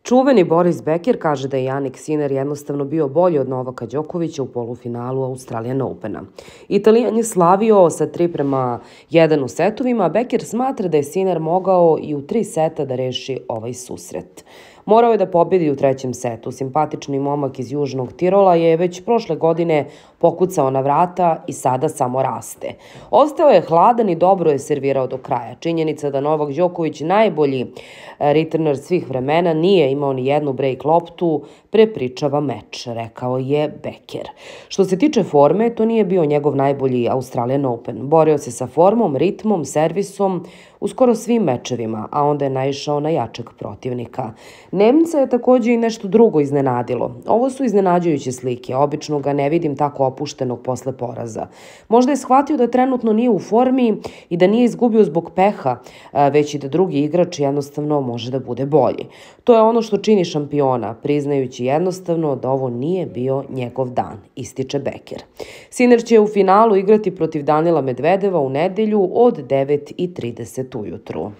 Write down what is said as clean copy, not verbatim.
Čuveni Boris Becker kaže da je Jannik Sinner jednostavno bio bolji od Novaka Đokovića u polufinalu Australian Opena. Italijan je slavio sa 3:1 u setovima, a Becker smatra da je Sinner mogao i u 3 seta da reši ovaj susret. Morao je da pobedi u 3. setu. Simpatični momak iz Južnog Tirola je već prošle godine pokucao na vrata i sada samo raste. Ostao je hladan i dobro je servirao do kraja. Činjenica da Novak Đoković, najbolji returner svih vremena, nije imao ni jednu break loptu, prepričava meč, rekao je Becker. Što se tiče forme, to nije bio njegov najbolji Australian Open. Borio se sa formom, ritmom, servisom u skoro svim mečevima, a onda je naišao na jačeg protivnika. Nemca je također i nešto drugo iznenadilo. Ovo su iznenađujuće slike, obično ga ne vidim tako opuštenog posle poraza. Možda je shvatio da trenutno nije u formi i da nije izgubio zbog peha, već i da drugi igrač jednostavno može da bude bolji. To je ono što čini šampiona, priznajući jednostavno da ovo nije bio njegov dan, ističe Becker. Sinner će u finalu igrati protiv Danila Medvedeva u nedelju od 9:30 ujutru.